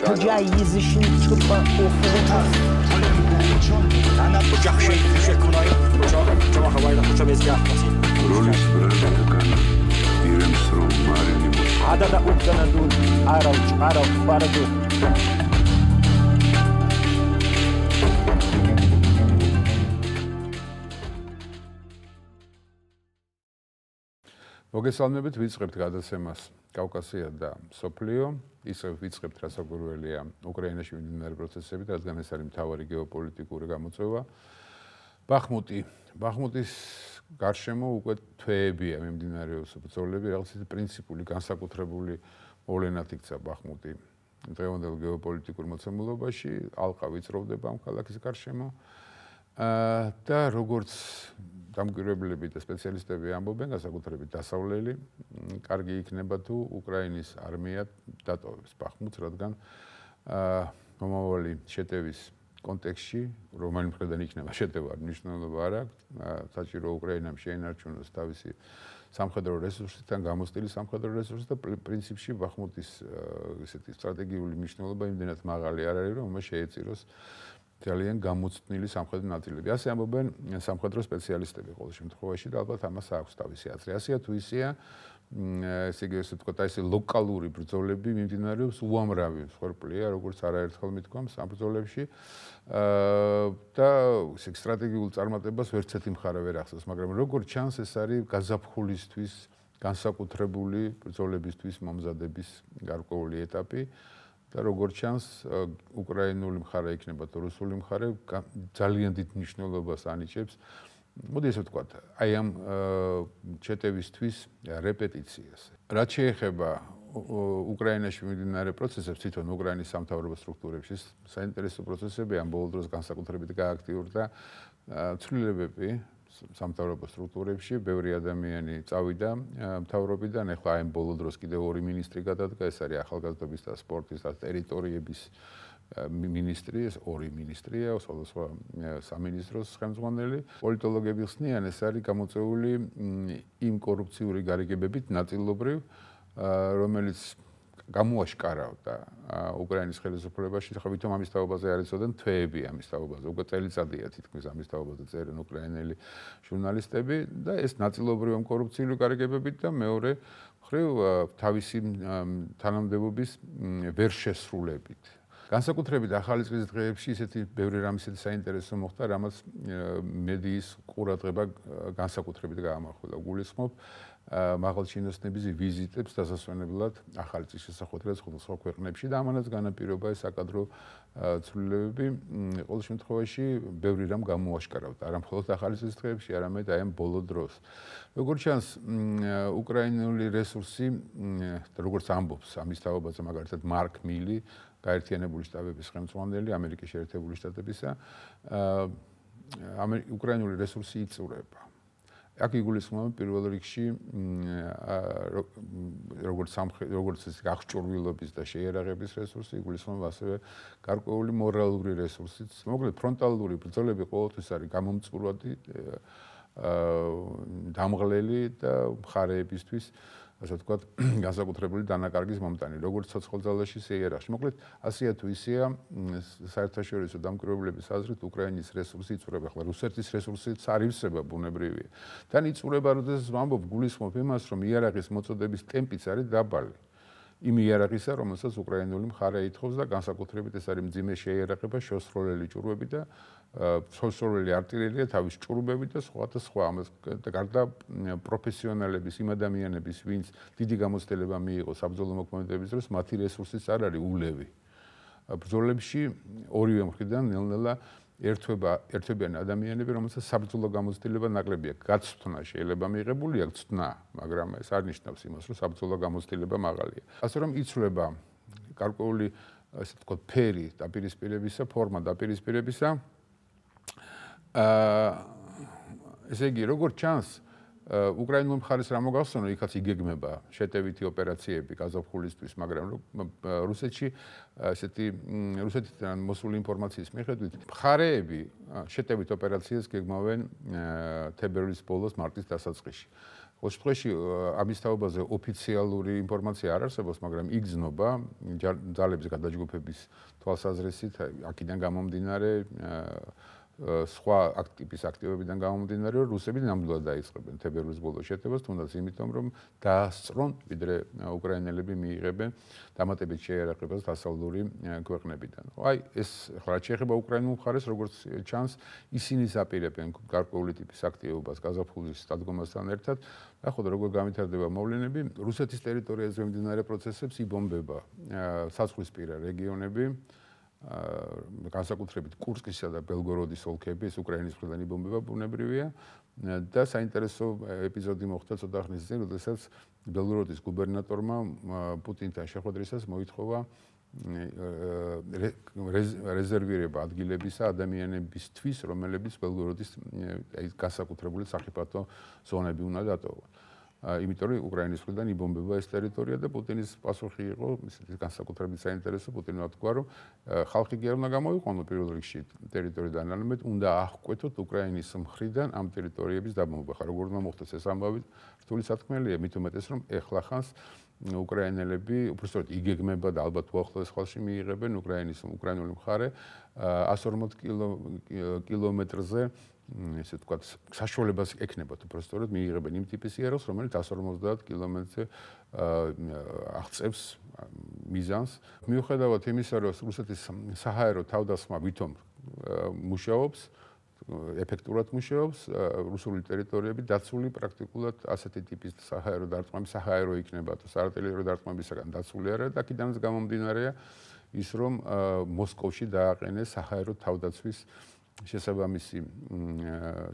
کجا یزشین چوبا اوفوتا انا بجاحشي شكوناي جوا هواي خوشا بيزيا როლის ბრალდაკანა ირემს რომ მარინი عدد أبدنا دول عرب باردو მოგესალმებით, ვიწყებთ გადაცემას კავკასია და სოფლიო. ისევ ვიწყებთ რასაკვირველია უკრაინაში მიმდინარე პროცესებით, რადგან ეს არის მთავარი გეოპოლიტიკური გამოწვევა. ბახმუტის გარშემო უკვე თვეებია მიმდინარეობს ბრძოლები, რაღაც პრინციპული განსაკუთრებული მოვლენად იქცა ბახმუტი დღევანდელ გეოპოლიტიკურ მოცემულობაში, ალყა ვიწროვდება ამ ქალაქის გარშემო. და როგორც დამკვირვებლები და სპეციალისტები ამბობენ, განსაკუთრებით დასავლელი, კარგი იქნება თუ უკრაინის არმია დატოვებს ბახმუტს, რადგან მომავალი შეტევის კონტექსტში, რომელი მხრიდან იქნება შეტევა, მნიშვნელობა არ აქვს, საჭირო უკრაინამ შეინარჩუნოს თავისი სამხედრო რესურსიდან გამოსტილი სამხედრო რესურსი და პრინციპში ბახმუტის ესეთი სტრატეგიული მნიშვნელობა იმდენად მაღალი არ არის, რომ მას შეეწიროს ძალიან გამოცდილი სამხედრო ნაწილები. ასე ამბობენ სამხედრო სპეციალისტები ყოველ შემთხვევაში და ალბათ ამას აქვს თავისი აზრი. ასეა თუ ისეა, ესე იგი ესე ვთქვათ, აი ესე ლოკალური ბრძოლები მიმდინარეობს უამრავი მსხვერპლია, როგორც არაერთხელ მithქვამს ამ ბრძოლებში. და ესე სტრატეგიულ წარმატებას ვერც ერთი მხარე ვერ ახსოვს, მაგრამ როგორც ჩანს, ეს არის გაზაფხულისთვის განსაკუთრებული ბრძოლებისთვის მომზადების გარკვეული ეტაპი. და როგორც ჩანს, უკრაინული მხარე იქნება თუ რუსული მხარე ძალიან დიდ მნიშვნელობას ანიჭებს. მოდი ესე ვთქვათ, აი ამ ჩეტევისთვის რეპეტიციას. რაც შეეხება უკრაინაში მიმდინარე პროცესებს, თვითონ უკრაინის სამთავრობო სტრუქტურებში საინტერესო პროცესები ამ ბოლო დროს განსაკუთრებით გააქტიურდა ცვლილებები სამთავრობო სტრუქტურებში, ბევრი ადამიანი წავიდა მთავრობიდან, ახლა აი ბოლო დროს კიდევ ორი მინისტრი გადადგა, ეს არის ახალგაზრდობის და სპორტის და ტერიტორიების მინისტრი, ეს ორი მინისტრია, სხვადასხვა სამინისტროს ხელმძღვანელი. პოლიტოლოგები ხსნიან, ეს არის გამოწვეული იმ კორუფციური გარიგებებით ნაწილობრივ, რომელიც გამოაშკარავდა უკრაინის ხელისუფლებაში, ხა ვითომ ამის თაობაზე არ იცოდნენ თვეები ამის თაობაზე, უკვე წელიწადია თითქმის ამის თაობაზე წერენ უკრაინელი ჟურნალისტები და ეს ნაწილობრივ ამ კორუფციული გარიგებებით და მეორე მხრივ თავისი თანამდებობის ვერ შესრულებით. განსაკუთრებით ახალი წლის დღეებში ისეთი ბევრი რამ ისეთი საინტერესო მოხდა, რამაც მედიის ყურადღება განსაკუთრებით გაამახვილა. გულისხმობ მაღალჩინოსნების ვიზიტებს დასასვენებლად ახალი წლის შესახვედრად სხვადასხვა ქვეყნებში და ამანაც განაპირობა ეს საკადრო ცვლილებები ყოველ შემთხვევაში ბევრი რამ გამოაშკარავდა, არა მხოლოდ ახალი წლის დღეებში, არამედ აი ამ ბოლო დროს. როგორც ჩანს, უკრაინული რესურსი, როგორც ამბობს ამის თაობაზე მაგალითად მარკ მილი, გაერთიანებული შტატების ხელმძღვანელი ამერიკის შეერთებული შტატებისა, უკრაინული რესურსი იწურება. აქ იგულისხმება პირველ რიგში როგორც ეს აღჭურვილობის და შეიარაღების რესურსი, იგულისხმება ასევე გარკვეული მორალური რესურსიც. მოკლედ ფრონტალური ბრძოლები ყოველთვის არის გამომწურვადი, დამღლელი და მხარეებისთვის ასე ვთქვათ, განსაკუთრებული დანაკარგის მომტანი, როგორც ცოცხალძალაში, შეიარაღში. მოკლედ, ასეა თუ ისეა, საერთაშორისო დამკვირვებლების აზრით, უკრაინის რესურსი იწურება, ახლა რუსეთის რესურსიც არ ივსება ბუნებრივია. თან იწურება, როდესაც ვამბობ, გულისხმობ იმას, რომ იარაღის მოწოდების ტემპიც არის დაბალი. იმ იარაღისა, რომელსაც უკრაინული მხარე ითხოვს და განსაკუთრებით ეს არის მძიმე შეიარაღება, შოსროლელი ჭურვები და შოსროლელი артиლერია, თავის ჭურვები და სხვა და სხვა. ამას გარდა პროფესიონალების, იმ ადამიანების, ვინც დიდი გამოცდილება მიიღო საბრძოლო მოქმედებების დროს, მათი რესურსიც არ არის ულევი. ბრძოლებში ორივე მხრიდან ნელ-ნელა ერთვებიან ადამიანები, რომელსაც საბრძოლო გამოცდილება ნაკლები აქვს. გაცვთნა შეიძლება მიიღებული აქვს ცთნა, მაგრამ ეს არ ნიშნავს იმას, რომ საბრძოლო გამოცდილება მაღალია. ასე რომ იცვლება გარკვეული, ასე ვთქვათ, ფერი დაპირისპირებისა, ფორმა დაპირისპირებისა. ესე იგი, როგორც ჩანს, უკრაინულ მხარეს რა მოგახსოვნა, იქაც იგეგმება შეტევითი ოპერაციები გაზაფხულისთვის, მაგრამ რუსეთში ესეთი რუსეთიდან მოსული ინფორმაციის მიხედვით, მხარეები შეტევით ოპერაციას გეგმავენ თებერვლის ბოლოს, მარტის დასაწყისში. ყოველ შემთხვევაში ამის თაობაზე ოფიციალური ინფორმაცია არ არსებობს, მაგრამ იგრძნობა ძალების გადაჯგუფების თვალსაზრისით, აქედან გამომდინარე სხვა აქტივის აქტივებიდან გამომდინარე, რომ რუსები ნამდვილად დაიწყებენ თებერვლის ბოლოს შეტევას, თუნდაც იმიტომ, რომ დაასწრონ, ვიდრე უკრაინელები მიიღებენ დამატებით შეერაყებას დასავლური ქვეყნებიდან. აი, ეს ახლა შეეხება უკრაინულ მხარეს, როგორც ჩანს, ისინი აპირებენ გარკვეული ტიპის აქტივობას გაზაფხულის დადგომასთან ერთად. ნახოთ, როგორ გამვითარდება მოვლენები. რუსეთის ტერიტორიაზე მიმდინარე პროცესებს იბომბება საზღვრისპირა რეგიონები. განსაკუთრებით კურსკისა და ბელგოროდის ოლქები, ეს უკრაინის მხრიდან იბომბება ბუნებრივია და საინტერესო ეპიზოდი მოხდა ცოტა ხნის წინ, როდესაც ბელგოროდის გუბერნატორმა პუტინთან შეხვედრისას მოითხოვა რეზერვირება ადგილებისა ადამიანებისთვის, რომელებიც ბელგოროდის განსაკუთრებული სახიფათო ზონები უნდა დატოვონ. იმიტომ რომ უკრაინის მხრიდან იბომბება ეს ტერიტორია და პუტინის პასუხი იყო ისეთი განსაკუთრებით საინტერესო. პუტინმა თქვა, რომ ხალხი კი არ უნდა გამოიყვანო პირველ რიგში ტერიტორიიდან, არამედ უნდა აღკვეთოთ უკრაინის მხრიდან ამ ტერიტორიების დაბომბვა. ხა როგორ უნდა მოხდეს ეს ამბავი რთული სათქმელია, მით უმეტეს რომ ეხლა ხანს უკრაინელები უბრალოდ იგეგმება და ალბათ უახლოეს ხალხში მიიღებენ უკრაინული მხარე 140 კილომეტრზე ესე თქვა საშუალებას ექნებათ უბრალოდ მიიღებენ იმ ტიპის იარაღს, რომელიც 150 კილომეტრზე აღწევს მიზანს. მიუხედავად იმისა, რომ რუსეთის საჰაერო თავდასხმა ვითომ მუშაობს, ეფექტურად მუშაობს, რუსული ტერიტორიები დაცული პრაქტიკულად ასეთი ტიპის საჰაერო დარტყმები, საჰაერო იქნება თუ საარტილერიო დარტყმებისგან დაცული არა და აქედანაც გამომდინარეა ის, რომ მოსკოვში დააყენეს საჰაერო თავდაცვის შესაბამისი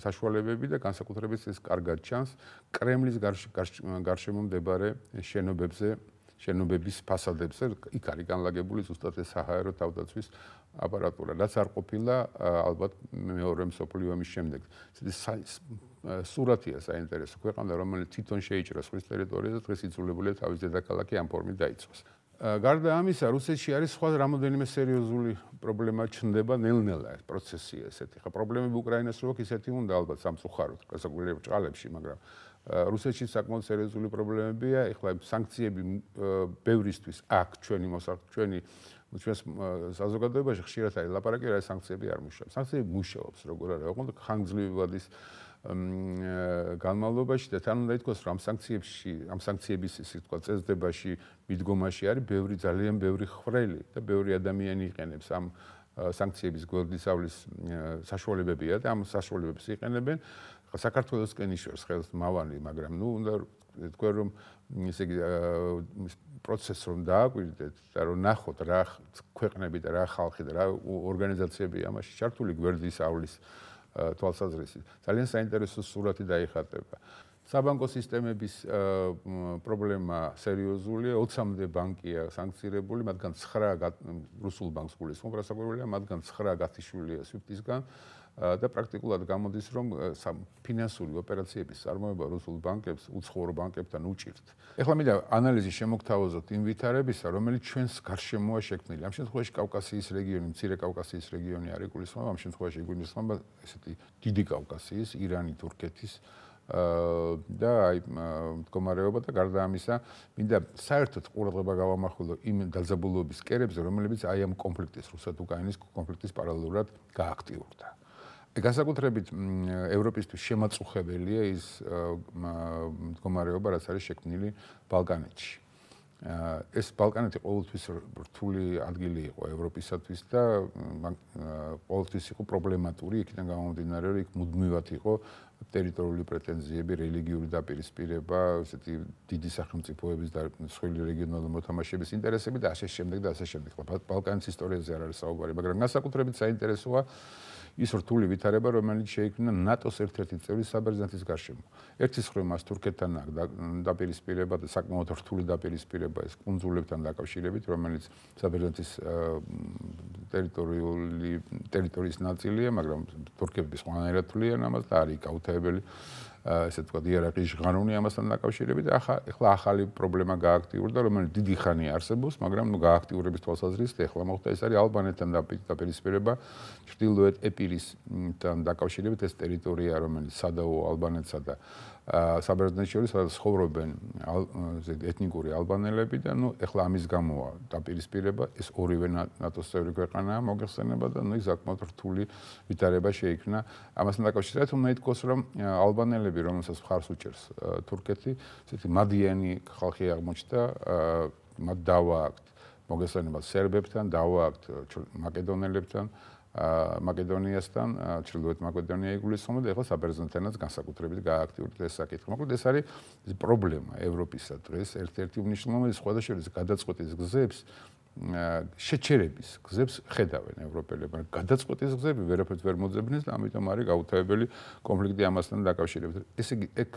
საშუალებები და განსაკუთრებით ეს კარგად ჩანს კრემლის გარშემო მდებარე შენობების ფასადებზე, იქ არის განლაგებული ზუსტად ეს საჰაერო თავდაცვის აპარატურა, რაც არ ყოფილა ალბათ მეორე მსოფლიო ომის შემდეგ. სურათია საინტერესო ქვეყანა, რომელიც თვითონ შეიჭრა სხვის ტერიტორიაზე, დღეს იძულებულია თავის დედაქალაქი ამ ფორმით დაიცვას. გარდა ამისა, რუსეთში არის სხვა რამოდენიმე სერიოზული პრობლემა ჩნდება ნელ-ნელა ეს პროცესია ესეთი. ხა პრობლემები უკრაინას რო აქვს ისეთი უნდა ალბათ სამწუხაროდ, გასაგვლელი ბრჭყალებში, მაგრამ რუსეთში საკმაოდ სერიოზული პრობლემებია. ეხლა სანქციები ბევრისთვის აქ ჩვენი საზოგადოებაში ხშირად არის ლაპარაკი, რა სანქციები არ მუშაობს. სანქციები მუშაობს, როგორ არა, ოღონდ ხანგრძლივად ის განმავლობაში და თან უნდა ითქვას, რომ ამ სანქციების ისე თქვა წესდებაში, მიდგომაში არის ძალიან ბევრი ხვრელი და ბევრი ადამიანი იყენებს ამ სანქციების გვერდისავლის საშუალებებია და ამ საშუალებებს იყენებენ. საქართველოსკენ იშორს ხელს მავალი, მაგრამ უნდა თქვა, რომ ესე იგი პროცესს რომ დააკვირდეთ და რომ ნახოთ რა ქვეყნები და რა ხალხი და რა ორგანიზაციები ამაში ჩართული გვერდისავლის თვალსაზრისით. ძალიან საინტერესო სურათი დაიხატება. საბანკო სისტემების პრობლემა სერიოზულია, 20-მდე ბანკია სანქცირებული, მათგან 9 რუსულ ბანკს გულისხმობ, რასაკვირველია, მათგან 9 გათიშულია SWIFT-ისგან და პრაქტიკულად გამოდის, რომ ფინანსური ოპერაციების წარმოება რუსულ ბანკებს, უცხოურ ბანკებთან უჭირთ. ეხლა მინდა ანალიზი შემოგთავაზოთ იმ ვითარებისა, რომელიც ჩვენს გარშემოა შექმნილი. ამ შემთხვევაში კავკასიის რეგიონი, მცირე კავკასიის რეგიონი არ იგულისხმება, ამ შემთხვევაში იგულისხმება ესეთი დიდი კავკასიის, ირანი, თურქეთის და აი მდგომარეობა და გარდა ამისა, მინდა საერთოდ ყურადღება გავამახვილო იმ დაძაბულობის კერებზე, რომლებიც აი ამ კონფლიქტის, რუსეთ-უკრაინის კონფლიქტის პარალელურად გააქტიურდა. განსაკუთრებით ევროპისთვის შემაწუხებელია ის მდგომარეობა, რაც არის შექმნილი ბალკანეთში. ეს ბალკანეთი ყოველთვის რთული ადგილი იყო ევროპისათვის და ყოველთვის იყო პრობლემატური, იქიდან გამომდინარე, რომ იქ მუდმივად იყო ტერიტორიული პრეტენზიები, რელიგიური დაპირისპირება, ესეთი დიდი სახელმწიფოების და სხვილი რეგიონალური მოთამაშეების ინტერესები და ასე შემდეგ და ასე შემდეგ. ბალკანის ისტორიაზე არ არის საუბარი, მაგრამ განსაკუთრებით საინტერესოა ის რთული ვითარება, რომელიც შეიქმნა ნატოს ერთ-ერთი წევრის საბერძნეთის გარშემო. ერთის მხრივ მას თურქეთთან დაპირისპირება და საკმაოდ რთული დაპირისპირება ეს კუნძულებთან დაკავშირებით, რომელიც საბერძნეთის ტერიტორიის ნაწილია, მაგრამ თურქები სხვანაირად თვლიან ამას და არის გაუთავებელი ესე თქვა იარაღის ჟღანუნი ამასთან დაკავშირებით. ახლა ახალი პრობლემა გააქტიურდა, რომელიც დიდი ხანია არსებობს, მაგრამ გააქტიურების თვალსაზრისით ახლა მოხდა ეს არის ალბანეთთან დაპირისპირება, ჩრდილოეთ ეპირისთან დაკავშირებით ეს ტერიტორია, რომელიც სადაო ალბანეთსა და საბერძნეთში სადაც ცხოვრობენ ეთნიკური ალბანელები და ეხლა ამის გამოა დაპირისპირება ეს ორივე ნატოს წევრი ქვეყანაა მოგეხსენება და ის საკმაოდ რთული ვითარება შეიქმნა ამასთან დაკავშირებით უნდა ითქვას რომ ალბანელები რომელსაც მხარს უჭერს თურქეთი ესეთი მადიანი ხალხი აღმოჩნდა მათ დავააქვთ მოგესალმება სერბებთან დავააქვთ მაკედონელებთან მაკედონიასთან ჩრდილოეთ მაკედონია იგულისხმება და ეხლა საბერძნეთთანაც განსაკუთრებით გააქტიურდა ეს საკითხი. მოკლედ ეს არის პრობლემა ევროპისა დღეს ერთ-ერთი უმნიშვნელოვანესი სხვადასხვა შორის გადაწყვეტის გზებს შეჩერების გზებს ხედავენ ევროპელები, მაგრამ გადაწყვეტის გზები ვერაფერს ვერ მოძებნეს და ამიტომ არის გაუთავებელი კონფლიქტი ამასთან დაკავშირებით. ესე იგი, ეგ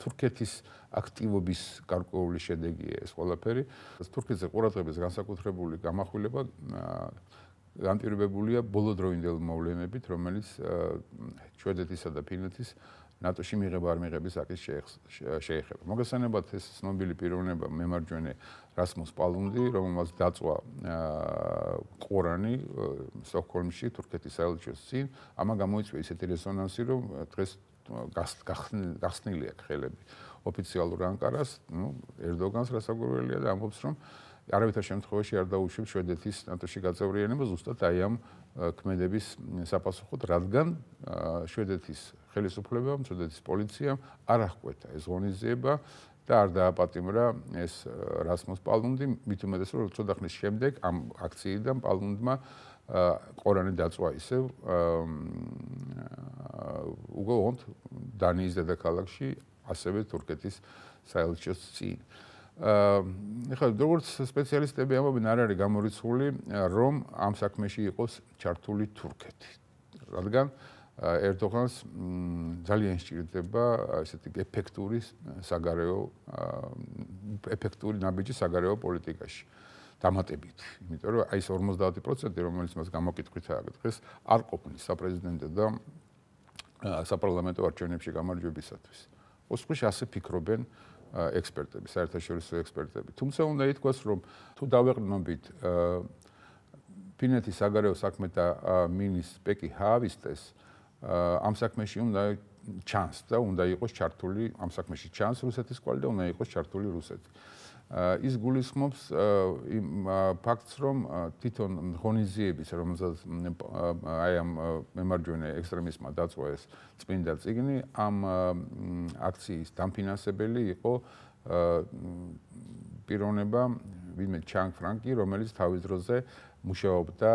თურქეთის აქტივობის გარკვეული შედეგია ეს ყველაფერი. თურქეთზე ყურადღების განსაკუთრებული გამახვილება განპირობებულია ბოლოდროინდელი მოვლენებით, რომელიც შვედეთისა და ფინეთის ნატოში მიღება არ მიღების აკის შეეხება. მოგესალმებათ ეს ცნობილი პიროვნება მემარჯვენე რასმუს პალუნდი, რომელმაც დაწვა ყორანი სტოკჰოლმში თურქეთის საელჩოს წინ, ამან გამოიწვია ისეთი რეზონანსი, რომ დღეს გახსნილი აქვს ხელები ოფიციალურ ანკარას, ერდოგანს რასაკვირველია და ამბობს, რომ არავითარ შემთხვევაში არ დაუშვებს შვედეთის ნატოში გაწევრიანებას ზუსტად აი ამ ქმედების საპასუხოდ, რადგან შვედეთის ხელისუფლებამ, შვედეთის პოლიციამ არ აღკვეთა ეს ღონისძიება და არ დააპატიმრა ეს რასმუს პალუნდი, მით უმეტეს რომ ცოტა ხნის შემდეგ ამ აქციიდან პალუნდმა ყორანი დაწვა ისევ უგონოდ დანიის დედაქალაქში, ასევე თურქეთის საელჩოს წინ. ეხლა როგორც სპეციალისტები ამბობენ, არ არის გამორიცხული, რომ ამ საქმეში იყოს ჩართული თურქეთი. რადგან ერდოგანს ძალიან სჭირდება ესეთი ეფექტური ნაბიჯი საგარეო პოლიტიკაში დამატებით. იმიტომ რომ აი ეს 50%, რომელიც მას გამოკითხვით აქვს დღეს, არ ყოფნის საპრეზიდენტო და საპარლამენტო არჩევნებში გამარჯვებისათვის. ოსყოში ასე ფიქრობენ ექსპერტები, საერთაშორისო ექსპერტები. თუმცა უნდა ითქვას, რომ თუ დავეყრდნობით ფინეთის საგარეო საქმეთა მინისტრ პეკი ჰაავისტეს ამ საქმეში უნდა ჩანს და უნდა იყოს ჩართული ამ საქმეში ჩანს რუსეთის კვალი და უნდა იყოს ჩართული რუსეთი. ის გულისხმობს იმ ფაქტს, რომ თვითონ ღონისძიების, რომელსაც აი ამ მემარჯვენე ექსტრემისტმა დაწვა ეს წმინდა წიგნი, ამ აქციის დამფინანსებელი იყო პიროვნება ვინმე ჩანგ ფრანკი, რომელიც თავის დროზე მუშაობდა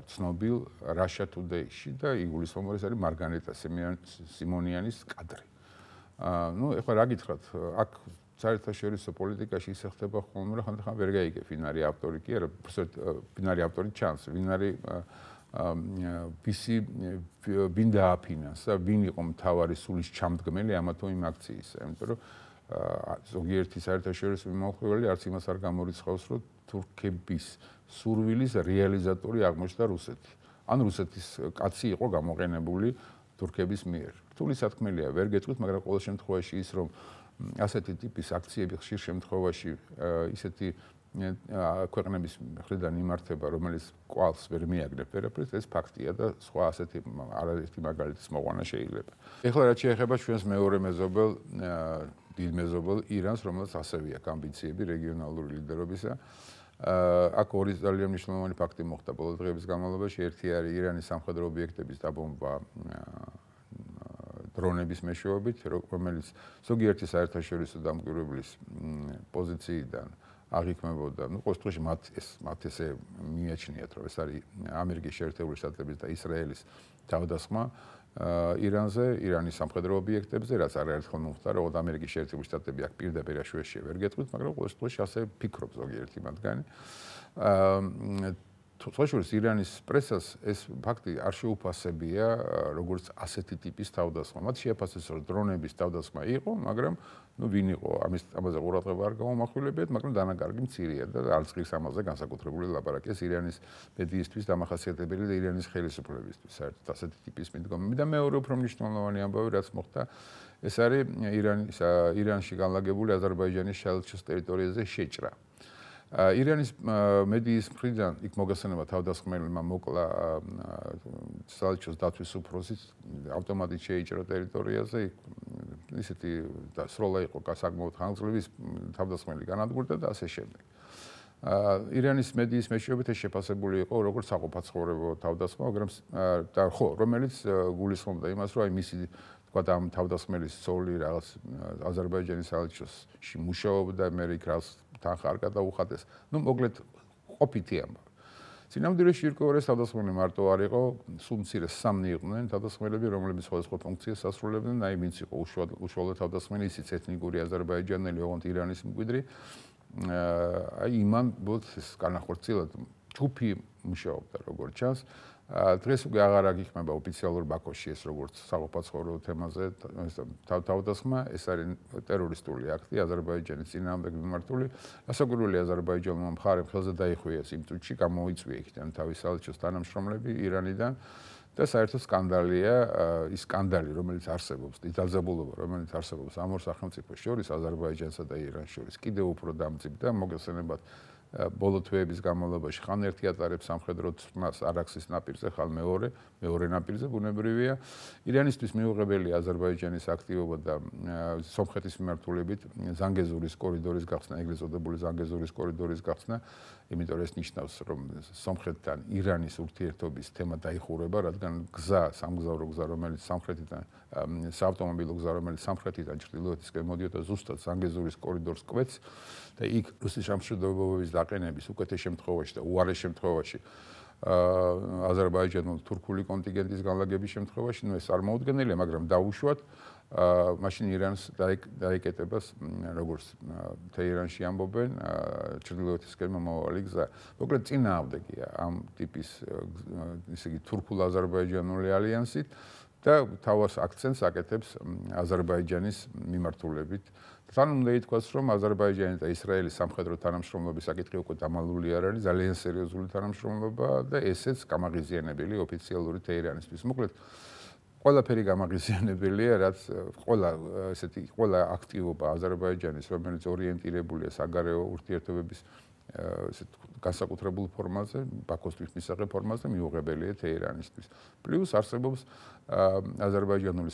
ცნობილ Russia Today-ში და იგულისხმება ეს არის მარგარეტა სიმონიანის კადრი. ეხლა რა გითხრათ, აქ საერთაშორისო პოლიტიკაში ისე ხდება ხოლმე, რომ ხანდახან ვერ გაიგე ვინ არის ავტორი კი არა, ვინ არის ავტორი ჩანს, ვინ არის ვინ დააფინანსა, ვინ იყო მთავარი სულის ჩამდგმელი ამა თუ იმ აქციისა, იმიტომ რომ ზოგიერთი საერთაშორისო მიმოხილველი არც იმას არ გამორიცხავს, რომ თურქების სურვილის რეალიზატორი აღმოჩნდა რუსეთი. ან რუსეთის კაცი იყო გამოყენებული თურქების მიერ. რთული სათქმელია, ვერ გეტყვით, მაგრამ ყოველ შემთხვევაში ის რომ ასეთი ტიპის აქციები ხშირ შემთხვევაში ისეთი ქვეყნების მხრიდან იმართება, რომელიც კვალს ვერ მიაგნებ ვერაფერს, ეს ფაქტია და სხვა ასეთი არაერთი მაგალითის მოყვანა შეიძლება. ეხლა რაც შეეხება ჩვენს მეორე მეზობელ დიდ მეზობელ ირანს, რომელსაც ასევე აქვს ამბიციები რეგიონალური ლიდერობისა. აქ ორი ძალიან მნიშვნელოვანი ფაქტი მოხდა ბოლო დღეების განმავლობაში. ერთი არის ირანის სამხედრო ობიექტების დაბომბვა დრონების მეშვეობით, რომელიც ზოგიერთი საერთაშორისო დამკვირვებლის პოზიციიდან აღიქმებოდა. ყოველ შემთხვევაში მათ ესე მიაჩნიათ, რომ ეს არის ამერიკის შეერთებული შტატების და ისრაელის თავდასხმა ირანზე, ირანის სამხედრო ობიექტებზე, რაც არაერთხელ მოხდა, რომ ამერიკის შეერთებული შტატები აქ პირდაპირ აშუაში ვერ გეტყვით, მაგრამ ყოველ შემთხვევაში ასე ფიქრობს ზოგიერთი მათგანი. თუმცა ირანის პრესას ეს ფაქტი არ შეუფასებია, როგორც ასეთი ტიპის თავდასხმა. მათ შეაფასეს, რომ დრონების თავდასხმა იყო, მაგრამ ვინ იყო, ამაზე ყურადღება არ გამომახვილებიათ, მაგრამ დანაკარგი მცირეა და არც ღირს ამაზე განსაკუთრებული ლაპარაკია ირანის მედიისთვის დამახასიათებელი და ირანის ხელისუფლებისთვის საერთოდ ასეთი ტიპის მიდგომები. და მეორე უფრო მნიშვნელოვანი ამბავი, რაც მოხდა, ეს არის ირანში განლაგებული აზერბაიჯანის შაელჩოს ტერიტორიაზე შეჭრა. ირანის მედიის მხრიდან იქ მოგესალმება თავდასხმელმა მოკლა საელჩოს დაცვის უფროსის ავტომატით შეიჭრა ტერიტორიაზე, ისეთი სროლა იყო საკმაოდ ხანგრძლივი თავდასხმელი განადგურდა და ასე შემდეგ. ირანის მედიის მეშვეობით ეს შეფასებული იყო როგორც საყოფაცხოვრებო თავდასხმა, მაგრამ რომელიც გულისხმობდა იმას, რომ აი მისი თქვა ამ თავდასხმელის ცოლი რაღაც აზერბაიჯანის საელჩოში მუშაობდა, მე იქ რაღაც თანხა არ გადაუხადეს. ნუ მოკლედ ყოფითი ამბავი. სინამდვილეში ირკვევარეს თავდასხმელი მარტო არ იყო, სულ მცირე სამნი იყვნენ თავდასხმელები, რომლებიც სხვადასხვა ფუნქციას ასრულებდნენ, აი ვინც იყო უშუალო თავდასხმელი, ისიც ეთნიკური აზერბაიჯანელი, ოღონდ ირანის მკვიდრი. აი იმან ბოლოს განახორციელა ჯგუფი მუშაობდა როგორც ჩანს. დღეს უკვე აღარ აღიქმება ოფიციალურ ბაქოში ეს როგორც საყოფაცხოვრებო თემაზე თავდასხმა, ეს არის ტერორისტული აქტი აზერბაიჯანის წინააღმდეგ მიმართული. გასაკვირველი აზერბაიჯანულმა მხარემ ხელზე დაიხუიეს იმ წუთში, გამოიწვია იქიდან თავის საელჩოს თანამშრომლები ირანიდან და საერთოდ სკანდალია ის სკანდალი, რომელიც არსებობს, ის დაძაბულობა, რომელიც არსებობს ამ ორ სახელმწიფოს შორის, აზერბაიჯანსა და irans შორის, კიდევ უფრო დამძიმდა, მოგეხსენებათ ბოლო თვეების განმავლობაში ხან ერთი ატარებს სამხედრო წმას არაქსის ნაპირზე, ხან მეორე ნაპირზე ბუნებრივია. ირანისთვის მიუღებელია აზერბაიჯანის აქტივობა და სომხეთის მიმართულებით ზანგეზურის კორიდორის გახსნა, ეგრეთ წოდებული ზანგეზურის კორიდორის გახსნა, იმიტომ რომ ეს ნიშნავს, რომ სომხეთთან ირანის ურთიერთობის თემა დაიხურება, რადგან სამგზავრო გზა, რომელიც სამხრეთიდან საავტომობილო გზა, რომელიც სამხრეთიდან ჩრდილოეთისკენ მოდიოდა, ზუსტად ზანგეზურის კორიდორს კვეთს და იქ რუსეთის შემსრულებლობის დაყენების უკეთეს შემთხვევაში და უარეს შემთხვევაში აზერბაიჯანულ თურქული კონტინგენტის განლაგების შემთხვევაში, ნუ ეს არ მოუდგენელია, მაგრამ დაუშვათ მაშინ ირანს დაიკეტებას როგორც თეირანში ამბობენ ჩრდილოეთისკენ მომავალი გზა. მოკლედ წინააღმდეგია ამ ტიპის ისე იგი თურქულ-აზერბაიჯანული ალიანსით და თავის აქცენტს აკეთებს აზერბაიჯანის მიმართულებით. თან უნდა ითქვას, რომ აზერბაიჯანი და ისრაელის სამხედრო თანამშრომლობის საკითხი უკვე დამალული არ არის, ძალიან სერიოზული თანამშრომლობა და ესეც გამაღიზიანებელი ოფიციალური თეირანისთვის. მოკლედ ყველაფერი გამაღიზიანებელია, რაც ყველა აქტივობა აზერბაიჯანის, რომელიც ორიენტირებულია საგარეო ურთიერთობების განსაკუთრებულ ფორმაზე, ბაქოსთვის მისაღებ ფორმაზე მიუღებელია თეირანისთვის. პლუს არსებობს აზერბაიჯანული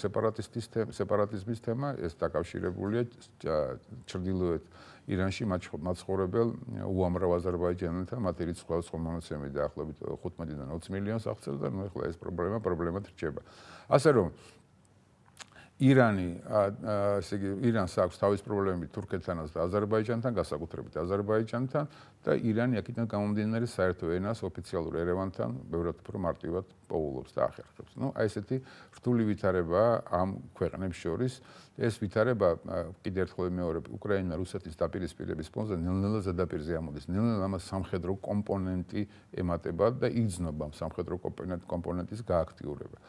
სეპარატიზმის თემა, ეს დაკავშირებულია ჩრდილოეთ ირანში მაცხოვრებელ უამრავ აზერბაიჯანელთან, მათ ერთად სხვადასხვა მონაცემები დაახლოებით 15-დან 20 მილიონს აღწევს და ნუ ახლა ეს პრობლემად რჩება. ასე რომ ირანს აქვს თავის პრობლემები თურქეთთანაც და აზერბაიჯანთან, განსაკუთრებით აზერბაიჯანთან და ირანი აქედან გამომდინარე საერთო ენას ოფიციალურ ერევანთან ბევრად უფრო მარტივად პოულობს და ახერხებს. ნუ აი ესეთი რთული ვითარებაა ამ ქვეყნებს შორის. ეს ვითარება კიდევ ერთხელ მეორე უკრაინა რუსეთის დაპირისპირების ფონზე ნელ-ნელა ზედაპირზე ამოდის. ნელ-ნელა ამას სამხედრო კომპონენტი ემატება და იგრძნობა სამხედრო კომპონენტის გააქტიურება.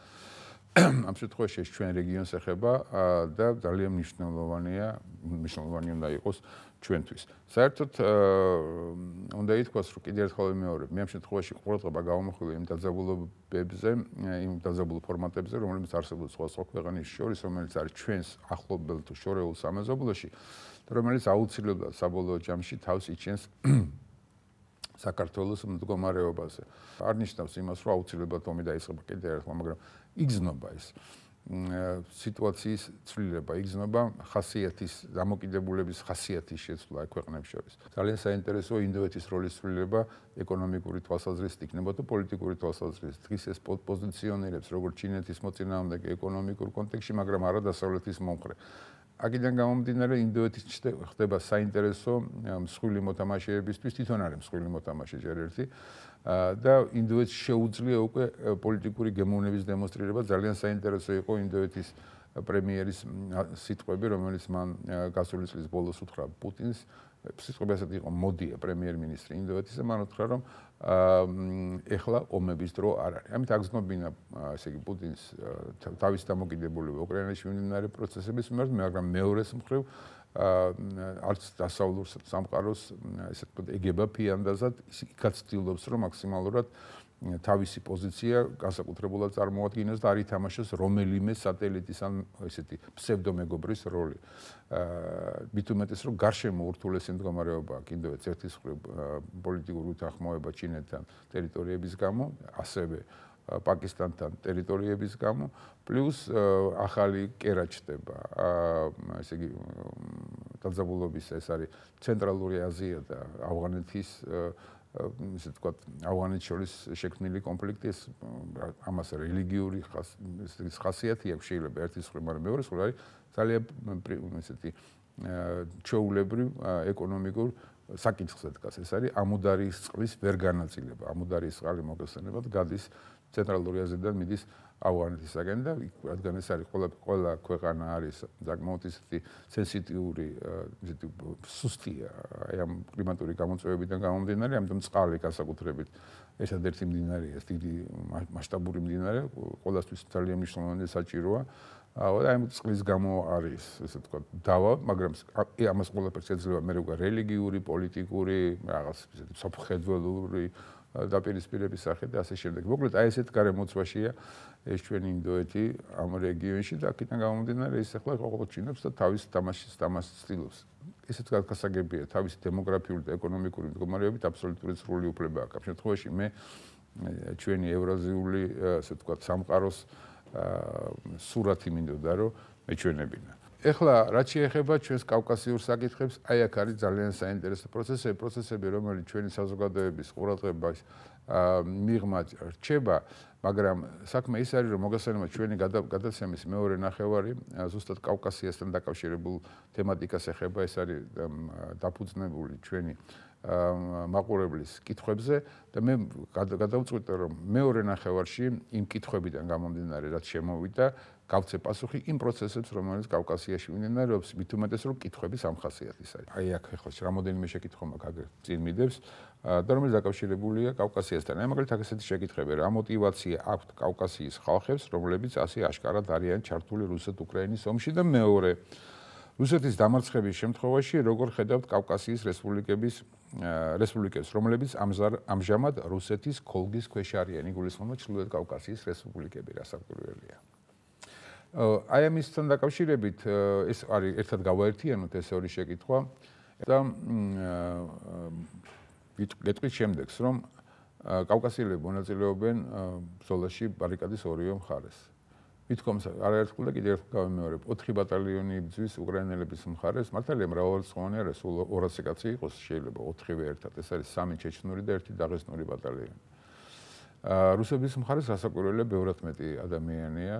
ამ შემთხვევაში ეს ჩვენ რეგიონს ეხება და ძალიან მნიშვნელოვანი უნდა იყოს ჩვენთვის. საერთოდ უნდა ითქვას, რომ კიდევ ერთხელ მეორე, მე ამ შემთხვევაში ყურადღება გავამახვილე იმ დაძაბულობებზე, იმ დაძაბულ ფორმატებზე, რომლებიც არსებობს სხვადასხვა ქვეყნის შორის, რომელიც არის ჩვენს ახლობელ თუ შორეულ სამეზობლოში და რომელიც აუცილებლად საბოლოო ჯამში თავს იჩენს საქართველოს მდგომარეობაზე. არ ნიშნავს იმას, რომ აუცილებლად ომი დაიწყება კიდევ ერთხელ, მაგრამ იგრძნობა ეს სიტუაციის ცვლილება, იგრძნობა ხასიათის, დამოკიდებულების ხასიათის შეცვლა ქვეყნებს შორის. ძალიან საინტერესოა ინდოეთის როლის ცვლილება ეკონომიკური თვალსაზრისით იქნება თუ პოლიტიკური თვალსაზრისით. დღეს ეს პოზიციონირებს როგორც ჩინეთის მოწინააღმდეგე ეკონომიკურ კონტექსტში, მაგრამ არა დასავლეთის მომხრე. აქედან გამომდინარე ინდოეთის ხდება საინტერესო მსხვილი მოთამაშეებისთვის, თვითონ არის მსხვილი მოთამაშე ჯერ ერთი და ინდოეთს შეუძლია უკვე პოლიტიკური გემოვნების დემონსტრირება. ძალიან საინტერესო იყო ინდოეთის პრემიერის სიტყვები, რომელიც მან გასული წლის ბოლოს უთხრა პუტინს. სიტყვები ასეთი იყო: მოდია პრემიერ-მინისტრი ინდოეთის და მან უთხრა, რომ ეხლა ომების დრო არ არის. ამით აგრძნობინა ესე იგი პუტინს თავის დამოკიდებულება უკრაინაში მიმდინარე პროცესების მიმართ, მაგრამ მეორეს მხრივ არც დასავლურ სამყაროს ესე ვთქვათ ეგება ფიანდაზად, იქაც ცდილობს, რომ მაქსიმალურად თავისი პოზიცია განსაკუთრებულად წარმოადგინოს და არ ითამაშოს რომელიმე სატელიტის ან ესეთი ფსევდომეგობრის როლი. მით უმეტეს, რომ გარშემო ურთულესი მდგომარეობა აქვს ინდოეთს ერთის მხრივ პოლიტიკური უთანხმოება ჩინეთთან ტერიტორიების გამო, ასევე პაკისტანთან ტერიტორიების გამო, პლუს ახალი კერა ჩდება. ესე იგი დაძაბულობის ეს არის ცენტრალური აზია და ავღანეთის ისე თქვა ავღანეთს შორის შექმნილი კონფლიქტი ეს ამას რელიგიური ხასიათი აქვს შეიძლება ერთის მხრივ, მაგრამ მეორე მხრივ არის ძალიან ისეთი ჩვეულებრივ ეკონომიკურ საკითხზე დგას. ეს არის ამუდარიის წყლის ვერ განაწილება. ამუდარიის წყალი მოგესალმებათ გადის ცენტრალური აზიიდან მიდის ავღანეთისაგან და რადგან ეს არის ყველა ქვეყანა არის საკმაოდ ისეთი სენსიტიური ისეთი სუსტია აი ამ კლიმატური გამოწვევებიდან გამომდინარე, ამიტომ წყალი განსაკუთრებით ერთადერთი მდინარეა, დიდი მასშტაბური მდინარე, ყველასთვის ძალიან მნიშვნელოვანი საჭიროა. და ამ წყლის გამო არის ესე თქვა დავა, მაგრამ ამას ყველაფერს ეძლევა მე როგორ რელიგიური, პოლიტიკური, რაღაც ისეთი საფუძვლური დაპირისპირების სახე და ასე შემდეგ. მოკლედ აი ესეთ გარემოცვაშია ეს ჩვენი ინდოეთი ამ რეგიონში და აქედან გამომდინარე ის ახლა ყოველჩინებს და თავის თამაშის ცდილობს. ესეც გასაგებია თავის დემოგრაფიული და ეკონომიკური მდგომარეობით აბსოლუტური სრული უფლება აქვს. ამ შემთხვევაში მე ჩვენი ევრაზიული ასე ვთქვათ სამყაროს სურათი მინდოდა რომ მეჩვენებინა. ეხლა რაც შეეხება ჩვენს კავკასიურ საკითხებს, აი აქ არის ძალიან საინტერესო პროცესები, რომელიც ჩვენი საზოგადოების ყურადღებას მიღმა რჩება, მაგრამ საქმე ის არის, რომ მოგესალმებით ჩვენი გადაცემის მეორე ნახევარი ზუსტად კავკასიასთან დაკავშირებულ თემატიკას ეხება, ეს არის დაფუძნებული ჩვენი მაყურებლის კითხვებზე და მე გადავწყვიტე რომ მეორე ნახევარში იმ კითხვებიდან გამომდინარე რაც შემოვიდა გავცე პასუხი იმ პროცესებს რომელიც კავკასიაში მიმდინარეობს მით უმეტეს რომ კითხვების ამხასიათის არის აი აქ ახლა რამოდენიმე შეკითხვა მაქვს აგერ წინ მიდევს და რომელიც დაკავშირებულია კავკასიასთან აი მაგალითად ესეთი შეკითხები რა мотиваცია აქვს კავკასიის ხალხებს რომლებიც ასე აშკარად არიან ჩართული რუსეთ-უკრაინის ომში და მეორე რუსეთის დამარცხების შემთხვევაში როგორ ხედავთ კავკასიის რესპუბლიკებს, რომლებიც ამჟამად რუსეთის ქოლგის ქვეშ არიან, იგულისხმება ჩრდილოეთ კავკასიის რესპუბლიკები, რასაკვირველია. აი ამისთან დაკავშირებით ეს არის ერთად გავაერთიანოთ ეს ორი შეკითხვა და გეტყვით შემდეგს, რომ კავკასიელები მონაწილეობენ ბრძოლაში ბარიკადის ორივე მხარეს. ვითქოს არაერთხელ და კიდევ ერთხელ გავიმეორებ 4 ბატალიონი იბრძვის უკრაინელების მხარეს მართალია მრავალრიცხოვანი არა სულ 200 კაცი იყოს შეიძლება 4-ვე ერთად ეს არის 3 ჩეჩნური და 1 დაღესტნური ბატალიონი რუსების მხარეს რასაკვირველია ბევრად მეტი ადამიანია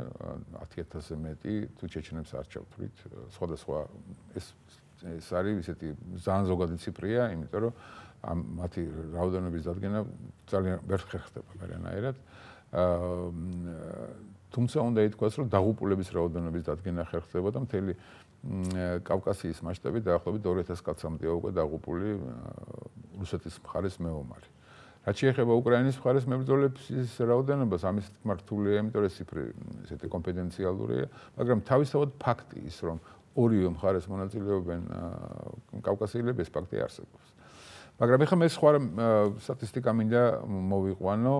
10000-ზე მეტი თუ ჩეჩნებს არ ჩავთვლით სხვადასხვა ეს არის ისეთი ძალიან ზოგადი ციფრია იმიტომ რომ მათი რაოდენობის დადგენა ძალიან ვერ ხერხდება გარანაირად თუმცა უნდა ითქვას, რომ დაღუპულების რაოდენობის დადგენა ხერხდება და მთელი კავკასიის მასშტაბით დაახლოებით 2000 კაცამდეა უკვე დაღუპული რუსეთის მხარეს მეომარი. რაც შეეხება უკრაინის მხარეს მებრძოლების რაოდენობას, ამის თქმა რთულია, იმიტომ რომ ციფრი ესეთი კონფიდენციალურია, მაგრამ თავისთავად ფაქტი ის, რომ ორივე მხარეს მონაწილეობენ კავკასიელები, ეს ფაქტი არსებობს. მაგრამ ეხლა მე სხვა სტატისტიკა მინდა მოვიყვანო.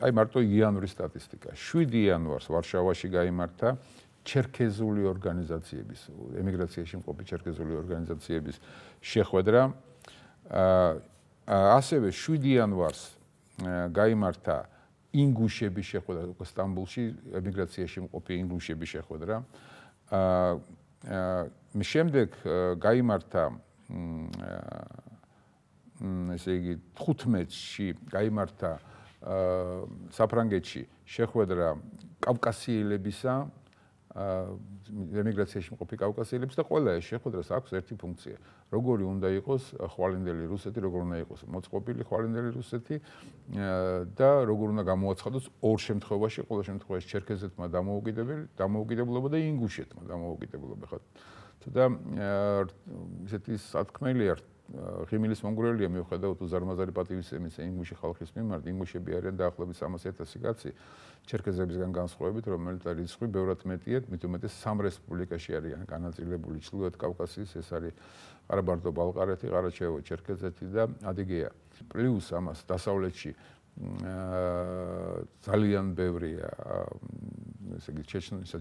აი მარტო იანვრის სტატისტიკა. 7 იანვარს ვარშავაში გაიმართა ჩერქეზული ორგანიზაციების, ემიგრაციაში მყოფი ჩერქეზული ორგანიზაციების შეხვედრა. ასევე 7 იანვარს გაიმართა ინგუშების შეხვედრა სტამბოლში, ემიგრაციაში მყოფი ინგუშების შეხვედრა. შემდეგ გაიმართა ესე იგი 15-ში გაიმართა საფრანგეთში შეხვედრა კავკასიელებისა ემიგრაციაში მყოფი კავკასიელებს და ყველა ეს შეხვედრას აქვს ერთი ფუნქცია. როგორი უნდა იყოს ხვალინდელი რუსეთი, როგორ უნდა იყოს მოწყობილი ხვალინდელი რუსეთი და როგორ უნდა გამოაცხადოს ორ შემთხვევაში, ყოველ შემთხვევაში ჩერქეზეთმა დამოუკიდებლობა და ინგუშეთმა დამოუკიდებლობა. ხო და ესეთი სათქმელია ღიმილის მონგრელია მიუხედავად უზარმაზარი პატივისცემის ინგუში ხალხის მიმართ ინგუშები არიან დაახლოებით 300,000 კაცი ჩერქეზებისგან განსხვავებით რომელიც რიცხვი ბევრად მეტია მით უმეტეს 3 რესპუბლიკაში არიან განაწილებული ჩრდილოეთ კავკასიის ეს არის ყარაბაღ-ბალყარეთი, ყარაჩაევო, ჩერქეზეთი და ადიგეა პლუს ამას დასავლეთში ძალიან ბევრია ესე იგი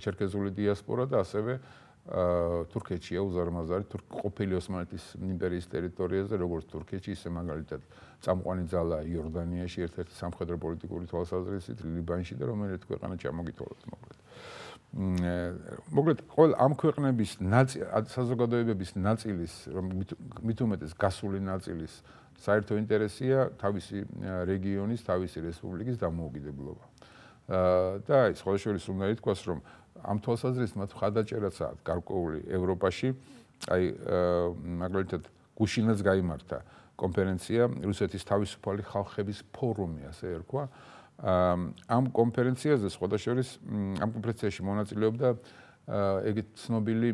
ჩერქეზული დიასპორა და ასევე თურქეთშია უზარმაზარი ყოფილი ოსმალეთის იმპერიის ტერიტორიაზე, როგორც თურქეთში, ისე მაგალითად წამყვანი ძალა იორდანიაში, ერთ-ერთი სამხედრო პოლიტიკური თვალსაზრისით, ლიბანში და რომელიც ქვეყანა ჩამოგითვალოთ მოკლედ ყოველ ამ ქვეყნების საზოგადოებების ნაწილის, მით უმეტეს გასული ნაწილის საერთო ინტერესია თავისი რეგიონის, თავისი რესპუბლიკის დამოუკიდებლობა. და ის სხვა შორის უნდა ითქვას, რომ ამ თვალსაზრისით მათ მხარდაჭერაც აქვს გარკვეული ევროპაში, აი მაგალითად გუშინაც გაიმართა კონფერენცია რუსეთის თავისუფალი ხალხების ფორუმი, ასე ერქვა. ამ კონფერენციაზე სხვა შორის ამ კონფერენციაში მონაწილეობდა ეგეთ ცნობილი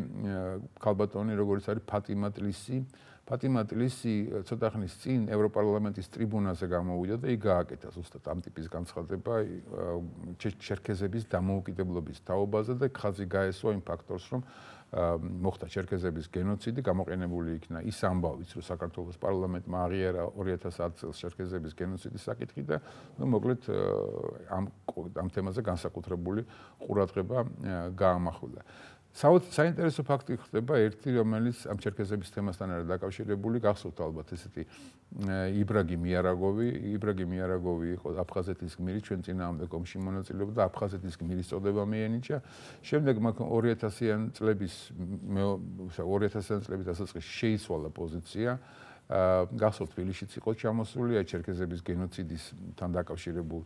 ქალბატონი, როგორც არის ფატიმა ტლისი. ფატიმა ტლისი ცოტა ხნის წინ ევროპარლამენტის ტრიბუნაზე გამოვიდა და იქ გააკეთა ზუსტად ამ ტიპის განცხადება ჩერქეზების დამოუკიდებლობის თაობაზე და ხაზი გაესვა იმ ფაქტორს, რომ მოხდა ჩერქეზების გენოციდი, გამოყენებული იქნა ის ამბავიც, რომ საქართველოს პარლამენტმა აღიარა 2010 წელს ჩერქეზების გენოციდის საკითხი და მოკლედ ამ თემაზე განსაკუთრებული ყურადღება გაამახვილა. საინტერესო ფაქტი ხდება ერთი, რომელიც ამ ჩერქეზების თემასთან არის დაკავშირებული, გახსოვთ ალბათ ესეთი იბრაგიმ იარაგოვი იყო აფხაზეთის გმირი, ჩვენ წინააღმდეგ ომში მონაწილეობდა, აფხაზეთის გმირის წოდება მიენიჭა. შემდეგ მაგ 2000-იან წლების დასაწყისში შეიცვალა პოზიცია. გახსოვთ თბილისშიც იყო ჩამოსული, ჩერქეზების გენოციდისთან დაკავშირებულ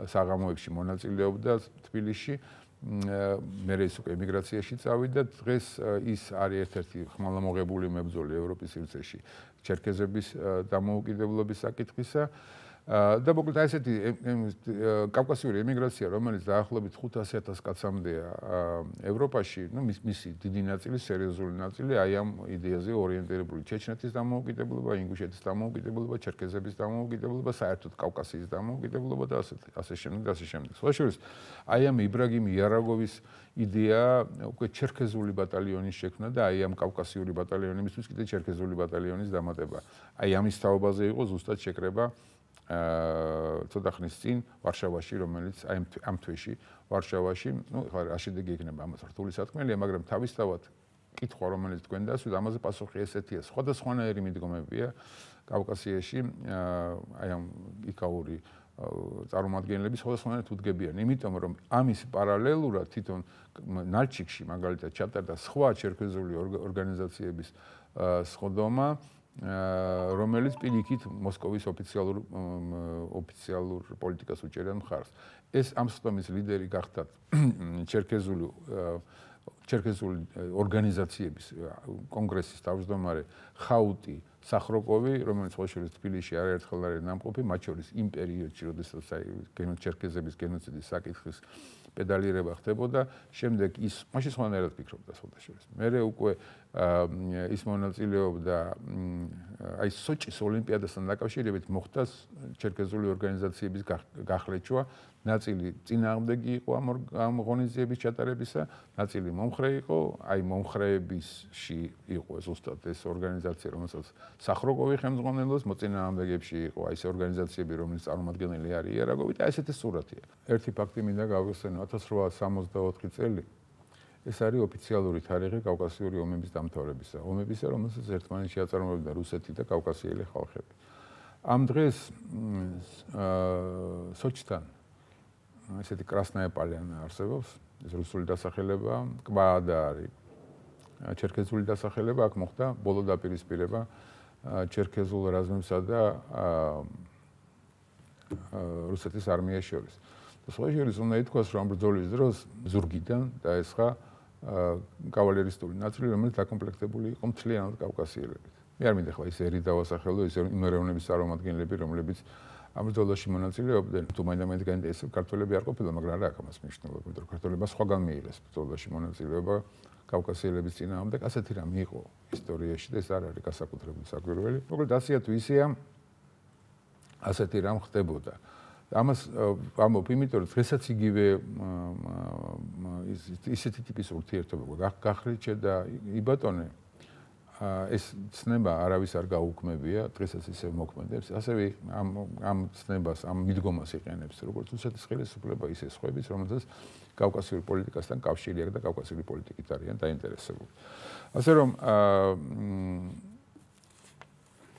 საღამოებში მონაწილეობდა თბილისში. მერე ის უკვე ემიგრაციაში წავიდა, დღეს ის არის ერთ-ერთი ხმალამოღებული მებრძოლი ევროპის სივრცეში ჩერქეზების დამოუკიდებლობის საკითხისა და მოკლედ აი ესეთი კავკასიური ემიგრაცია, რომელიც დაახლოებით 500,000 კაცამდეა ევროპაში, მისი დიდი ნაწილი, სერიოზული ნაწილი აი ამ იდეაზე ორიენტირებული ჩეჩნეთის დამოუკიდებლობა, ინგუშეთის დამოუკიდებლობა, ჩერქეზების დამოუკიდებლობა, საერთოდ კავკასიის დამოუკიდებლობა და ასე შემდეგ. სხვა შორის აი ამ იბრაგიმ იარაგოვის იდეა უკვე ჩერქეზული ბატალიონის შექმნა და აი ამ კავკასიური ბატალიონებისთვის კიდე ჩერქეზული ბატალიონის დამატება. აი ამის თაობაზე იყო ზუსტად შეკრება ცოტა ხნის წინ ვარშავაში, რომელიც აი ამ თვეში ვარშავაში, ხა რა შედეგი იქნება ამას რთული სათქმელია, მაგრამ თავისთავად კითხვა, რომელიც თქვენ დასვით, ამაზე პასუხი ესეთია. სხვადასხვანაირი მიდგომებია კავკასიაში, აი ამ იქაური წარმომადგენლები სხვადასხვანაირად უდგებიან, იმიტომ რომ ამის პარალელურად თვითონ ნალჩიკში მაგალითად ჩატარდა სხვა ჩერქეზული ორგანიზაციების სხდომა, რომელიც პირიქით მოსკოვის ოფიციალურ პოლიტიკას უჭერდა მხარს. ეს ამ სხდომის ლიდერი გახდა ჩერქეზული ორგანიზაციების კონგრესის თავმჯდომარე ხაუტი სახროკოვი, რომელიც სხვა შორის თბილისში არაერთხელ არის ნამყოფი, მათ შორის იმ პერიოდში, როდესაც ჩერქეზების გენოციდის საკითხის პედალირება ხდებოდა, შემდეგ ის მაშინ სხვანაირად ფიქრობდა სხვა შორის. მერე უკვე ის მონაწილეობდა აი სოჭის ოლიმპიადასთან დაკავშირებით მოხდა ჩერქეზული ორგანიზაციების გახლეჩვა, ნაწილი წინააღმდეგი იყო ამ ღონისძიების ჩატარებისა, ნაწილი მომხრე იყო, აი მომხრეებისში იყო ზუსტად ეს ორგანიზაცია, რომელსაც სახროკოვი ხელმძღვანელობს, მოწინააღმდეგებში იყო აი ეს ორგანიზაციები, რომლის წარმომადგენელი არის იარაგოვი და ესეთი სურათია. ერთი ფაქტი მინდა გავიხსენო, 1864 წელი ეს არის ოფიციალური თარიღი კავკასიური ომების დამთავრებისა. ომებისა, რომელსაც ერთმანეთში აწარმოებდა რუსეთი და კავკასიელი ხალხები. ამ დღეს სოჭთან ესეთი კრასნაია პალიანა არსებობს, ეს რუსული დასახელება, კვაადა არის. ჩერქეზული დასახელება აქ მოხდა ბოლო დაპირისპირება ჩერქეზულ რაზმებსა და რუსეთის არმიას შორის. სხვა შორის უნდა ითქვას, რომ ამ ბრძოლის დროს ზურგიდან დაესხა კავალერისტული ნაწილი, რომელიც დაკომპლექტებული იყო მთლიანად კავკასიელებით. მე არ მინდა ხლა ის ერი დავასახელო, ის იმერევნების წარმომადგენლები, რომლებიც ამ ბრძოლაში მონაწილეობდნენ, თუ მაინდა-მაინც გაინტერესებს ქართველები არ ყოფილა, მაგრამ არა აქვს ამას მნიშვნელობა, იმიტომ რომ ქართველებმა სხვაგან მიიღეს ბრძოლაში მონაწილეობა კავკასიელების წინააღმდეგ, ასეთი რამე იყო ისტორიაში და ეს არ არის გასაკუთრებული საკვირველი. მოკლედ ასეა თუ ისეა, ასეთი რამ ხდებოდა. ამას ამბობ, იმიტომ რომ დღესაც იგივე ისეთი ტიპის ურთიერთობა გახლეჩა და იბატონე ეს ცნება არავის არ გაუქმებია, დღესაც ისე მოქმედებს. ასევე ამ ცნებას, ამ მიდგომას იყენებს როგორც რუსეთის ხელისუფლება, ისე სხვაებიც, რომელთაც კავკასიური პოლიტიკასთან კავშირი აქვს და კავკასიური პოლიტიკით არიან დაინტერესებული. ასე რომ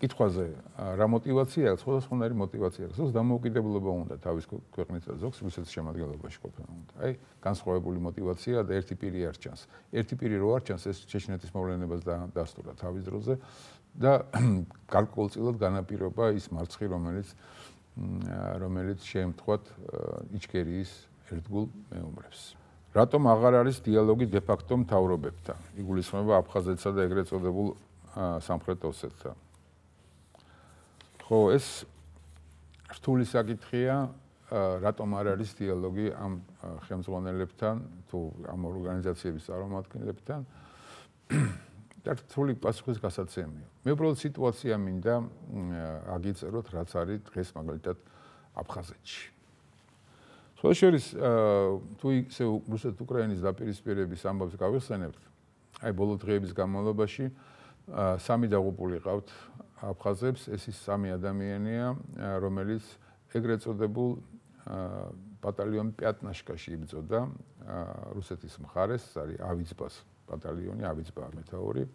კითხვაზე რა мотиваცია აქვს, სხვადასხვანაირი мотиваცია აქვს. ზოგს დამოუკიდებლობა უნდა თავის ქვეყნის და ზოგს რუსეთის შემადგენლობაში ყოფნა უნდა. აი, განსხვავებული мотиваცია და ერთი პირი არ ჩანს. ერთი პირი რო არ ჩანს, ეს ჩეჩნეთის მოვლენებას დასტურა თავის დროზე და გარკვეულწილად განაპირობა ის მარცხი, რომელიც შემთხვევით იჩქერიის ერთგულ მეომრებს. რატომ აღარ არის დიალოგი დე-ფაქტო მთავრობებთან? იგულისხმება აფხაზეთსა და ეგრეთ წოდებულ სამხრეთ ოსეთთან. ხო, ეს რთული საკითხია, რატომ არ არის დიალოგი ამ ხელმძღვანელებთან თუ ამ ორგანიზაციების წარმომადგენლებთან და რთული პასუხის გასაცემია. მე უბრალოდ სიტუაცია მინდა აგიწეროთ, რაც არის დღეს მაგალითად აფხაზეთში. სხვა შორის, თუ ისე რუსეთ-უკრაინის დაპირისპირების ამბავს გავიხსენებთ, აი ბოლო დღეების განმავლობაში სამი დაღუპული ყავთ აფხაზებს, ეს ის სამი ადამიანია, რომელიც ეგრეთ წოდებულ ბატალიონ პიატნაშკაში იბრძოდა რუსეთის მხარეს, ეს არის ავიცბას ბატალიონი, ავიცბა მეთაური,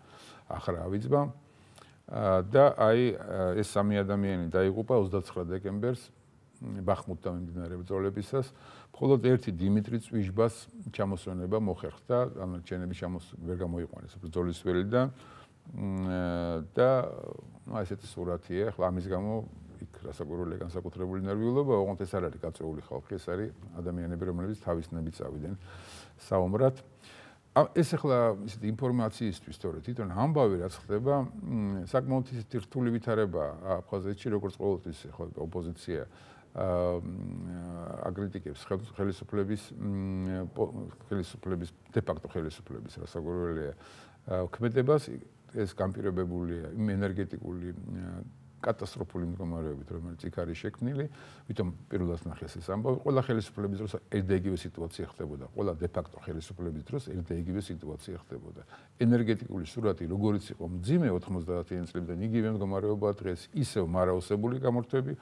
ახრა ავიცბა და აი ეს სამი ადამიანი დაიღუპა 29 დეკემბერს ბახმუტთან მიმდინარე ბრძოლებისას, მხოლოდ ერთი დიმიტრი წვიჟბას ჩამოსვენება მოხერხდა, დანარჩენები ვერ გამოიყვანეს ბრძოლის ველიდან და ესეთი სურათია, ახლა ამის გამო იქ რასაკვირველია განსაკუთრებული ნერვიულობა, ოღონდ ეს არ არის გაწეული ხალხი, ეს არის ადამიანები, რომლებიც თავისნებით წავიდნენ საომრად. ეს ახლა ისეთი ინფორმაციისთვის, თორე თვითონ ამბავი რაც ხდება, საკმაოდ ისეთი რთული ვითარებაა აფხაზეთში, როგორც ყოველთვის ახლა ოპოზიცია აკრიტიკებს ხელისუფლების დე-ფაქტო ხელისუფლების რასაკვირველია ქმედებას, ეს განპირობებულია იმ ენერგეტიკული კატასტროფული მდგომარეობით, რომელიც იქ არის შექმნილი, ვითომ პირველად ნახეს ეს ამბავი, ყველა ხელისუფლების დროს ერთდაიგივე სიტუაცია ხდებოდა, ყველა დე-ფაქტო ხელისუფლების დროს ერთდაიგივე სიტუაცია ხდებოდა. ენერგეტიკული სურათი როგორიც იყო მძიმე 90-იან წლებიდან, იგივე მდგომარეობაა დღეს, ისევ მარაოსებული გამორთვები,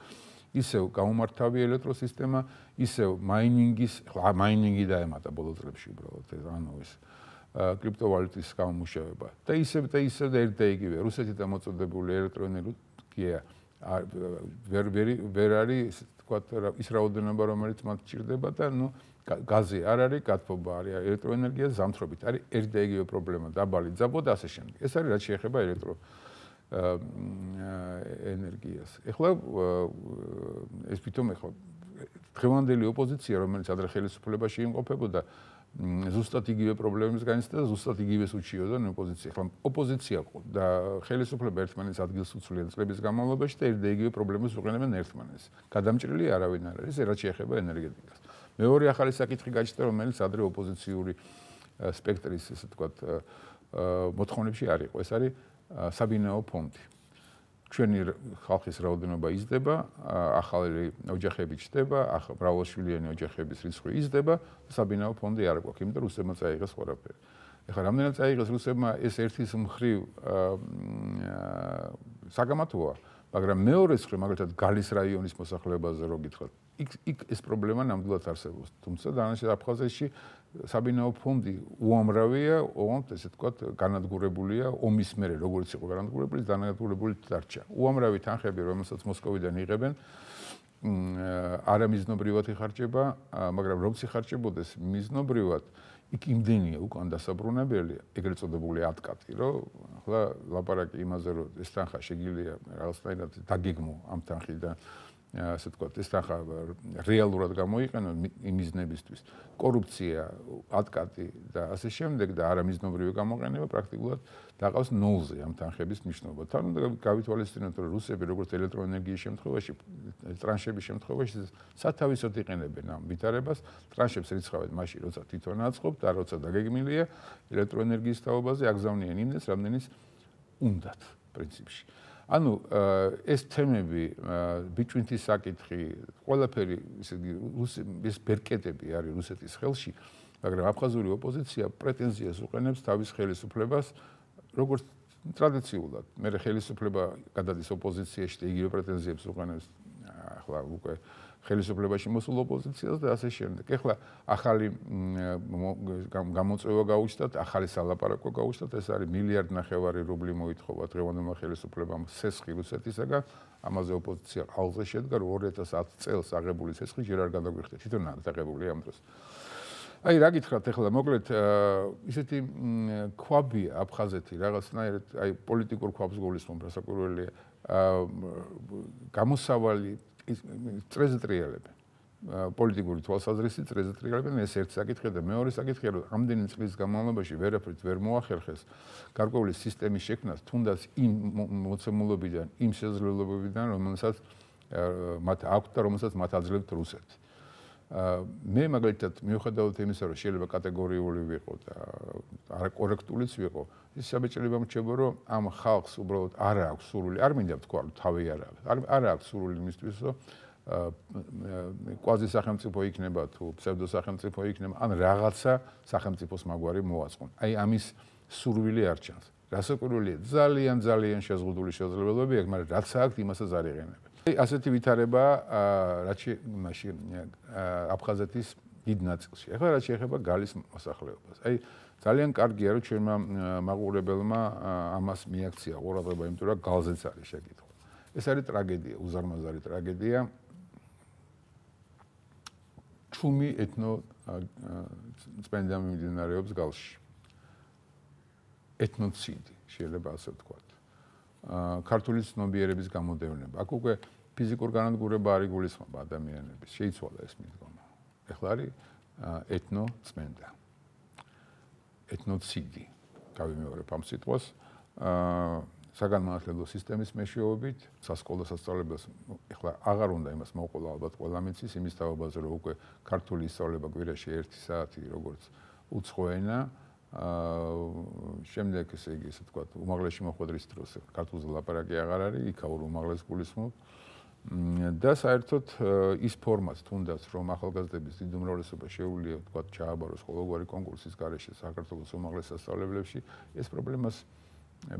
ისევ გამომართავი ელექტროსისტემა, ისევ მაინინგი დაემატა ბოლო წლებში უბრალოდ ეს კრიპტოვალუტის გამომუშავება და ისევ და ერთდაიგივე რუსეთით მოწოდებული ელექტროენერგია ვერ არის თქვა ის რაოდენობა რომელიც მათ ჭირდება და გაზი არ არის, გათბობა არის, ელექტროენერგია ზამთრობით არის ერთდაიგივე პრობლემა, დაბალი ძაბვა და ასე შემდეგ. ეს არის რაც შეეხება ელექტროენერგიას. ეხლა ეს თვითონ ეხლა დღევანდელი ოპოზიცია, რომელიც ადრე ხელისუფლებაში იმყოფებოდა, ზუსტად იგივე პრობლემებს განიცდიდა და ზუსტად იგივეს უჩიოდა ოპოზიცია. ახლა ოპოზიცია და ხელისუფლება ერთმანეთს ადგილს უცვლიან წლების განმავლობაში და ერთდაიგივე პრობლემებს უყენებენ ერთმანეთს. გადამჭრილი არავინ არ არის, რაც შეეხება ენერგეტიკას. მეორე ახალი საკითხი გაჩნდა, რომელიც ადრე ოპოზიციური სპექტრის, ესე ვთქვათ, მოთხოვნებში არ იყო. ეს არის საბინაო ფონდი. ჩვენი ხალხის რაოდენობა იზრდება, ახალი ოჯახები ჩნდება, მრავალშვილიანი ოჯახების რიცხვი იზრდება, საბინაო ფონდი არ გვაქვს, იმიტომ რომ რუსებმა წაიღეს ყველაფერი. ეხლა რამდენად წაიღეს რუსებმა, ეს ერთის მხრივ საგამათოა, მაგრამ მეორეს მხრივ, მაგალითად გალის რაიონის მოსახლეობაზე რო გითხრათ, იქ ეს პრობლემა ნამდვილად არსებობს. თუმცა დანარჩენ აფხაზეთში საბინაო ფონდი უამრავია, ოღონდ ესე ვთქვათ, განადგურებულია ომის მერე, როგორც იყო განადგურებული, განადგურებული დარჩა. უამრავი თანხები, რომელსაც მოსკოვიდან იღებენ, არამიზნობრივად იხარჯება, მაგრამ როგორც იხარჯებოდეს მიზნობრივად, იქ იმდენია უკან დასაბრუნებელი, ეგრეთ წოდებული ატკატი, რომ ახლა ლაპარაკი იმაზე, რომ ეს თანხა შეგიძლია რაღაცნაირად დაგეგმო ამ თანხიდან, ასე ვთქვათ, ეს თანხა რეალურად გამოიყენონ იმიზნებისთვის. კორუფცია, ატკატი და ასე შემდეგ და არამიზნობრივი გამოყენება პრაქტიკულად დაყავს ნულზე ამ თანხების მნიშვნელობა. თან უნდა გავითვალისწინოთ, რომ რუსები როგორც ელექტროენერგიის შემთხვევაში, ტრანშების შემთხვევაში სათავისოდ იყენებენ ამ ვითარებას, ტრანშებს რიცხავენ მაშინ, როცა თვითონ აწყობთ და როცა დაგეგმილია ელექტროენერგიის თაობაზე აგზავნიან იმდენს, რამდენის უნდათ პრინციპში. ანუ ეს თემები, ბიჭვინთის საკითხი, ყველაფერი ეს ბერკეტები არის რუსეთის ხელში, მაგრამ აფხაზური ოპოზიცია პრეტენზიას უყენებს თავის ხელისუფლებას, როგორც ტრადიციულად მე ხელისუფლება გადადის ოპოზიციაში და იგივე პრეტენზიებს უყენებს ახლა უკვე ხელისუფლებაში მოსულ ოპოზიციას და ასე შემდეგ. ეხლა ახალი გამოწვევა გაუჩნდათ, ახალი სალაპარაკო გაუჩნდათ, ეს არის 1.5 მილიარდი რუბლი მოითხოვა დღევანდელმა ხელისუფლებამ სესხი რუსეთისაგან, ამაზე ოპოზიცია ყალზე შედგა, 2010 წელს აღებული სესხი ჯერ არ გადაგვიხდა, თვითონ აღებული ამ დროს. აი რა გითხრათ ახლა მოკლედ ისეთი ქვაბია აფხაზეთი რაღაცნაირად აი პოლიტიკურ ქვაბს გულისხმობ რასაკვირველია გამოსავალი წრეზეტრიალები პოლიტიკური თვალსაზრისით წრეზეტრიალები ეს ერთი საკითხია და მეორე საკითხია რომ ამდენი წლის განმავლობაში ვერაფრით ვერ მოახერხეს გარკვეული სისტემის შექმნას თუნდაც იმ მოცემულობიდან იმ შესაძლებლობებიდან რომელსაც მათ აქვთ და რომელსაც მათ აძლევთ რუსეთი მე მაგალითად მიუხედავად იმისა რომ შეიძლება კატეგორიული ვიყო და არაკორექტულიც ვიყო ის საბჭოება მრჩება რომ ამ ხალხს უბრალოდ არ აქვს სურვილი არ მინდა ვთქვა რომ თავი არ აქვს სურვილი იმისთვის რომ კვაზი სახელმწიფო იქნება თუ ფსევდო სახელმწიფო იქნება ან რაღაცა სახელმწიფოს მაგვარი მოაწყონ აი ამის სურვილი არ ჩანს რასაკვირველია ძალიან შეზღუდული შესაძლებლობები აქვს მაგრამ რაც აქვს იმასაც არ იღენებენ ასეთი ვითარება რაც მაშინ აფხაზეთის დიდ ნაწილში. ახლა რაც შეეხება გალის მოსახლეობას. აი ძალიან კარგია რომ ჩვენმა მაყურებელმა ამას მიაქცია ყურადღება, იმიტომ რომ გალზეც არის შეკითხვა. ეს არის ტრაგედია, უზარმაზარი ტრაგედია. ჩუმი ეთნო წმენდა მიმდინარეობს გალში. ეთნოციდი, შეიძლება ასე ვთქვათ. ქართული ცნობიერების გამოდევნება. აქ უკვე ფიზიკურ განადგურება არ იგულისხმება ადამიანების. შეიცვალა ეს მიდგომა. ეხლა არის ეთნოწმენდა. ეთნოციდი. გავიმეორებ ამ სიტყვას. საგანმანათლებლო სისტემის მეშვეობით, სასკოლო სასწავლებელს ეხლა აღარ უნდა იმას მოყოლა ალბათ ყველა მიცის იმის თაობაზე რომ უკვე ქართული ისწავლება კვირაში 1 საათი როგორც უცხო ენა შემდეგ ესე იგი ასე ვთქვათ უმაღლესში მოხვედრის დროს ქართულზე ლაპარაკი აღარ არის იქაურ უმაღლეს გულისხმობ და საერთოდ ის ფორმაც თუნდაც რომ ახალგაზრდების დიდ უმრავლესობა შეუძლია ვთქვათ ჩააბაროს ყოველგვარი კონკურსის გარეშე საქართველოს უმაღლეს სასწავლებლებში ეს პრობლემას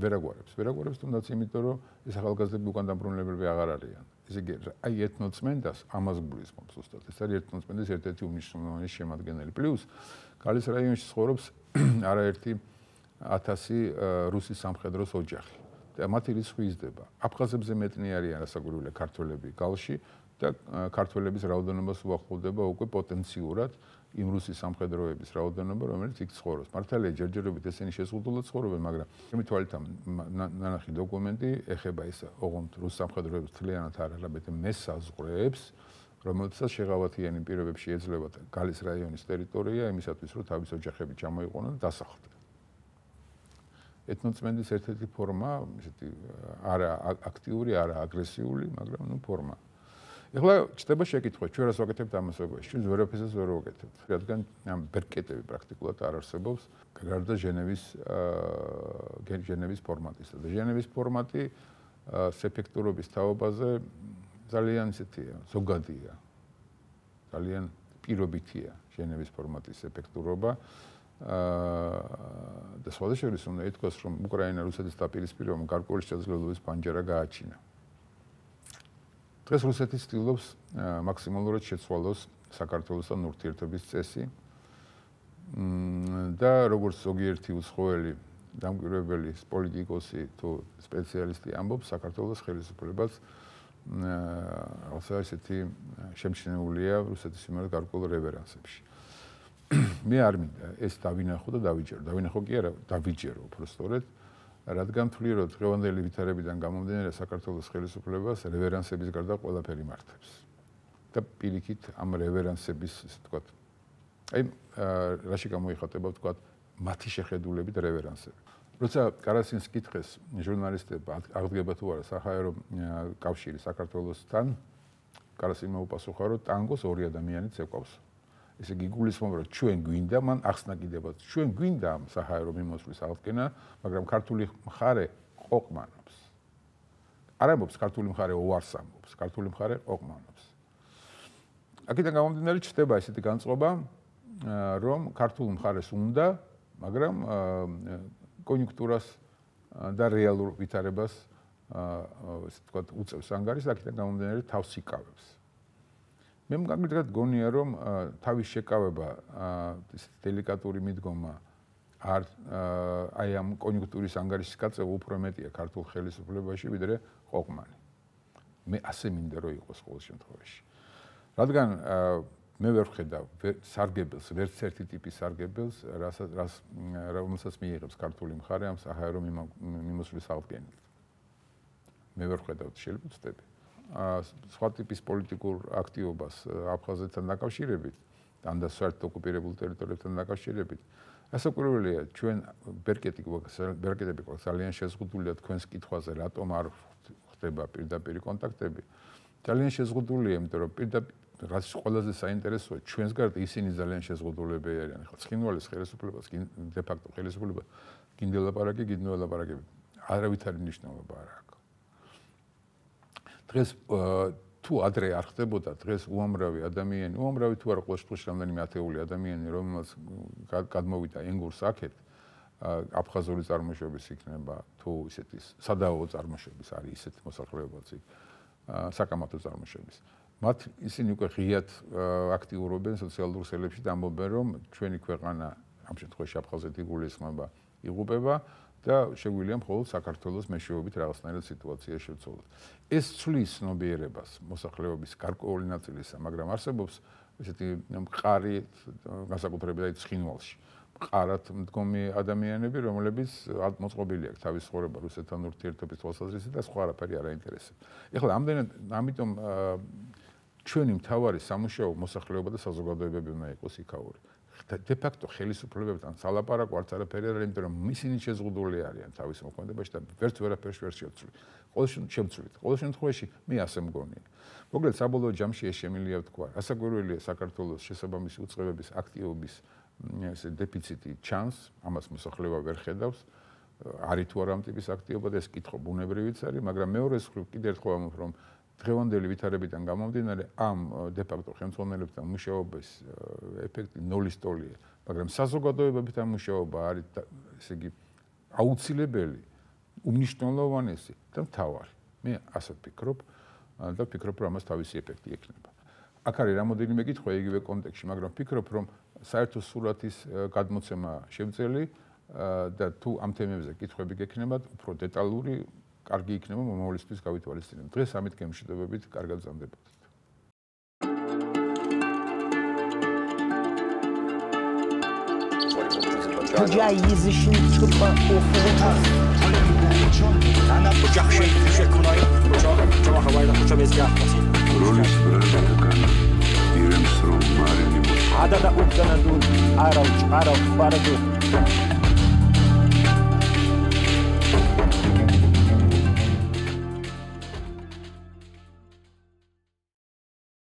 ვერაგვარებს თუნდაც იმიტომ რომ ეს ახალგაზრდები უკან დაბრუნებულები აღარ არიან ესე იგი აი ეთნოწმენდას ამას გულისხმობს ზუსტად ეს არის ეთნოწმენდის ერთ-ერთი უმნიშვნელოვანესი შემადგენელი პლუს გალის რაიონში ცხოვრობს არაერთი 1000 რუსის სამხედროს ოჯახი და მათი რიცხვი იზრდება. აფხაზებზე მეტნი არიან რასაკვირველია ქართველები გალში და ქართველების რაოდენობას უახლოვდება უკვე პოტენციურად იმ რუსის სამხედროების რაოდენობა, რომელიც იქ ცხოვრობს. მართალია ჯერჯერობით ესენი შეზღუდულად ცხოვრობენ, მაგრამ ჩემი თვალით ნანახი დოკუმენტი ეხება ის ოღონდ რუს სამხედროების თლიანად არ არაბეთ მესაზღვრეებს რომელთაც შეღავათიანი პირობებში ეძლევა გალის რაიონის ტერიტორია იმისათვის რომ თავის ოჯახები ჩამოიყვანონ და დასახლდნენ. ეთნოწმენდის ერთ-ერთი ფორმა, ისეთი არა აქტიური, არა აგრესიული, მაგრამ ნუ ფორმა. ეხლა ჩდება შეკითხვა, ჩვენ რას ვაკეთებთ ამასობაში? ჩვენ ვერაფერს ვერ ვაკეთებთ. რადგან ამ ბერკეტები პრაქტიკულად არ არსებობს, გარდა ჟენევის ფორმატისა. და ჟენევის ფორმატი ეფექტურობის თაობაზე ძალიან ისეთია, ზოგადია. ძალიან პირობითია ჟენევის ფორმატის ეფექტურობა. და სხვადასხვა უნდა ითქვას, რომ უკრაინა რუსეთის დაპირისპირებამ გარკვეული შესაძლებლობის პანჯარა გააჩინა. დღეს რუსეთი ცდილობს მაქსიმალურად შეცვალოს საქართველოსთან ურთიერთობის წესი და როგორც ზოგიერთი უცხოელი დამკვირვებელი პოლიტიკოსი თუ სპეციალისტი ამბობს, საქართველოს ხელისუფლებას რაღაცა ისეთი შემჩნეულია რუსეთის მიმართ გარკვეულ რევერანსებში. მე არ მინდა ეს დავინახო და დავიჯერო. დავინახო კი არა, დავიჯერო უბრალოდ, რადგან თვლი რომ დღევანდელი ვითარებიდან გამომდინარე საქართველოს ხელისუფლებას რევერანსების გარდა ყველაფერი მართებს. და პირიქით ამ რევერანსების, ასე ვთქვათ, აი რაში გამოიხატება ვთქვათ, მათი შეხედულებით რევერანსები. როცა კარასინს კითხეს ჟურნალისტებმა აღდგება თუ არა საჰაერო კავშირი საქართველოსთან, კარასინმა უპასუხა რომ ტანგოს ორი ადამიანი წეკვავს. ესე იგი გულისხმობ რომ ჩვენ გვინდა მან ახსნა კიდევაც ჩვენ გვინდა ამ საჰაერო მიმოსვლის აღდგენა მაგრამ ქართული მხარე ყოყმანობს არ ამბობს ქართული მხარე უარს ამბობს ქართული მხარე ყოყმანობს აქედან გამომდინარე ჩნდება ესეთი განწყობა რომ ქართულ მხარეს უნდა მაგრამ კონიუნქტურას და რეალურ ვითარებას ესე ვთქვათ უწევს ანგარიშს, აქედან გამომდინარე თავს იკავებს. მე მაგალითად გონია რომ თავის შეკავება ეს დელიკატური მიდგომა აი ამ კონიუნქტურის ანგარიშის გაწევა უფრო მეტია ქართულ ხელისუფლებაში ვიდრე ყოყმანი. მე ასე მინდა რომ იყოს ყოველ შემთხვევაში. რადგან მე ვერ ვხედავ სარგებელს, ვერც ერთი ტიპის სარგებელს, რომელსაც მიიღებს ქართული მხარე ამ საჰაერო მიმოსვლის აღდგენით. მე ვერ ვხედავ შეიძლება ვწდები. სხვა ტიპის პოლიტიკურ აქტივობას აფხაზეთთან დაკავშირებით, ან და საერთოდ ოკუპირებულ ტერიტორიებთან დაკავშირებით, ასაკურველია ჩვენ ბერკეტები გვაქვს ძალიან შეზღუდულია თქვენს კითხვაზე, რატომ არ ხდება პირდაპირ კონტაქტები. ძალიან შეზღუდულია, იმიტომ რომ პირდაპირ რაც ყველაზე საინტერესოა, ჩვენს გარდა ისინი ძალიან შეზღუდულები არიან. ხო, ცხინვალის ხელისუფლებას, დე ფაქტო ხელისუფლება გინდელაპარაკები, არავითარი მნიშვნელობა არ აქვს. დღეს თუ ადრე არ ხდებოდა, დღეს უამრავი თუ არა ყოველ შემთხვევაში რამდენიმე ათეული ადამიანი, რომელსაც გადმოვიდა ენგურს აქეთ, აფხაზური წარმოშობის იქნება, თუ ისეთი სადავო წარმოშობის არის ისეთი მოსახლეობაც იქ, საკამათო წარმოშობის. მათ ისინი უკვე ღიად აქტიურობენ სოციალურ ქსელებში და ამბობენ, რომ ჩვენი ქვეყანა ამ შემთხვევაში აფხაზეთი გულისხმობა იღუპება და შეგვიძლია მხოლოდ საქართველოს მეშვეობით რაღაცნაირად სიტუაცია შევცვალოთ. ეს ცვლის ცნობიერებას მოსახლეობის გარკვეული ნაწილისა, მაგრამ არსებობს ესეთი მყარი განსაკუთრებით ცხინვალში. მყარად მდგომი ადამიანები, რომლებიც მოწყობილი აქვს თავის ცხოვრება რუსეთთან ურთიერთობის თვალსაზრისით და სხვა არაფერი არ აინტერესებს. ეხლა ამიტომ ჩვენი მთავარი სამუშაო მოსახლეობა და საზოგადოებები უნდა იყოს იქაური. დე ფაქტო ხელისუფლებებთან სალაპარაკო არც არაფერი არ არის, იმიტომ რომ ისინი შეზღუდული არიან თავის მოქმედებაში და ვერაფერს ვერ შევცვლით. ყოველ შემთხვევაში მე ასე მგონია. მოკლედ საბოლოო ჯამში ეს შემიძლია ვთქვა. ასაკვირველია საქართველოს შესაბამისი უწყებების აქტივობის ესე დეფიციტი ჩანს, ამას მოსახლეობა ვერ ხედავს. არის თუ არა ამ ტიპის აქტივობა და ეს კითხვა ბუნებრივიც არის, მაგრამ მეორე მხრივ კიდევ ერთხელ ვამბობ, რომ დღევანდელი ვითარებიდან გამომდინარე ამ დე ფაქტო ხელმძღვანელებთან მუშაობის ეფექტი ნულის ტოლია, მაგრამ საზოგადოებებთან მუშაობა არის ესე იგი აუცილებელი, უმნიშვნელოვანესი და მთავარი. მე ასე ვფიქრობ და ვფიქრობ, რომ ამას თავისი ეფექტი ექნება. აქ არის რამოდენიმე კითხვა იგივე კონტექსტში, მაგრამ ვფიქრობ, რომ საერთო სურათის გადმოცემა შევძელი და თუ ამ თემებზე კითხვები გექნებათ, უფრო დეტალური კარგი იქნება მომავლისთვის გავითვალისწინებთ. დღეს ამით გემშვიდობებით, კარგად გზამდებოდეთ. ჯაი იზიშინ ჩუბა ოფერა. ანა ოჯახში შექმნაი, ოჯახავაი და ხოჭებეზგა. როლის ბრალდაკანა ირემს რომ მარინი ადა და უკანადულ არავ პარადო